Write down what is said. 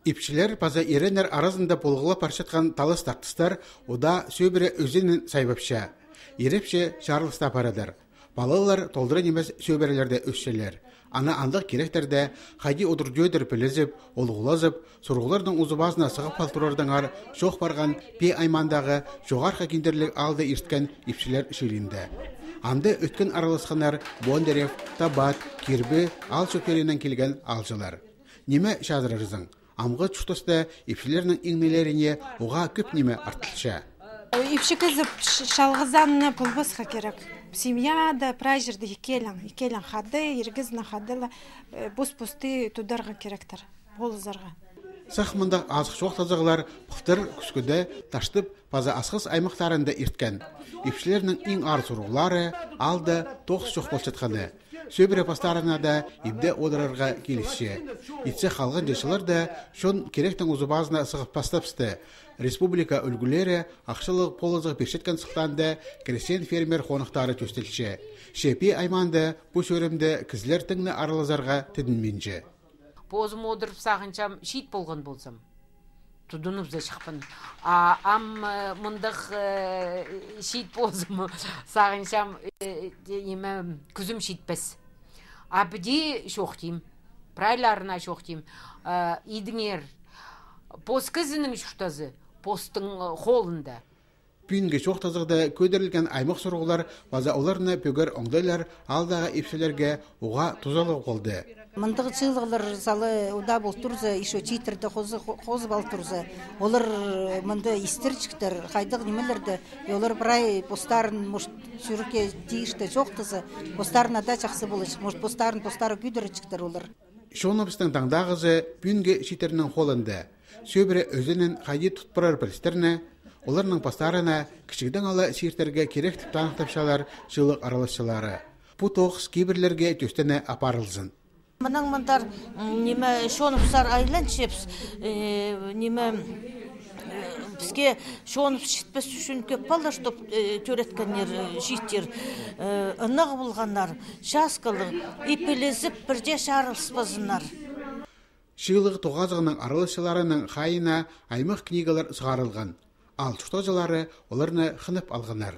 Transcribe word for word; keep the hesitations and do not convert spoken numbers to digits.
Ипчілер паза иреннер аразында полғылап парчатхан талас-тартыстар удаа сӧбіре ӧзенін сайбапча. Ирепче чарылыста парадыр. Палалар толдыра нимес сӧбірелерде ӧсчелер. Ана андағ киректерде хайди одыр-тӧдір пілізіп, олғылазып, сурығларның узубазына сығып хал турардаңар чоох парған Пии аймаандағы Чоғархы Киндірліг аалда ирткен ипчілер чыылиинда. Анда ӧткін араласханнар Бондарев, Табат, Кирбі аал чӧптерінең килген аалҷылар. Ниме чазырарзың? Амғы чуртаста ипчілернің иңнілеріне уғаа кӧп ниме артылча. Ипчі кізі ш-, чалғызаң на полбасха кирек. Семьяда, прай чирде ікӧлең, ікӧлең хада, ир кізінің хада ла, э, пос-посты тударға киректір, полызарға. Сах мындағ азых чоохтазығлар пылтыр Кӱскӱде, Таштып паза Асхыс аймахтарында ирткен. Ипчілернің иң аар сурығлары аалда тоғыс чох полчатханы. Сӧбіре постарына даа ибде одырарға килісче. Итсе халған чылларда чон киректің узубазына сығып пастапсты. Республика ӱлгӱлері ахчалығ полызығ пирчеткен сылтаанда крестьян-фермер хоныхтары тӧстелче. Че Пии аймаанда пу чӧрімде кізілер тың на аралазарға тідінминче. Позым одырып сағынчам, чиит полған ползам, тудынып за чыхпын. А ам, э, мындағ, э, чиит ползам, сағынчам, э, ниме, кӱзім читпес. А піди чоохтим, прайларына чоохтим. Э, идіңер, пос кізінің чуртазы постың, э, холында. Пӱӱнгі чоохтазығда кӧдірілген аймах сурығлар паза оларны пӧгер оңдайлар аалдағы ипчілерге уғаа тузалығ полды. Мындағ чыылығлар сала удаа пол турза, ещё чииттерді хозы-, хо-, хозып ал турза, олар мында истерҷіктер, хайдағ нимелерді, и олар прай постарын, может, чӱрекке тиишті чоохтаза, постарына даа чахсы поларҷых, может, постарын постары кӧдірерҷіктер олар. Чоныбыстың таңдағызы пӱӱнгі чииттернің холында. Сӧбіре ӧзенін хайди тут парар пілістерні, оларның постарына кічігдең ала сииртерге кирек тіп таныхтапчалар чыылығ араласчылары. Пу тоғыс кибірлерге тӧстене апарылзын. Мынаң мындар, м, ниме, чоныбыстар айланчабыс, э, ниме, э, піске чоныбыс читпес ӱчӱн кӧп палалар, чтоб, э, тӧреткеннер, э, чииттер, э, ынағ полғаннар, часкалығ, и пілізіп, пірдее чарылыспазыннар. Чыылығ тоғазығның араласчыларының хайиина аймах книгалар сығарылған. Аал чуртағҷылары оларны хынып алғаннар.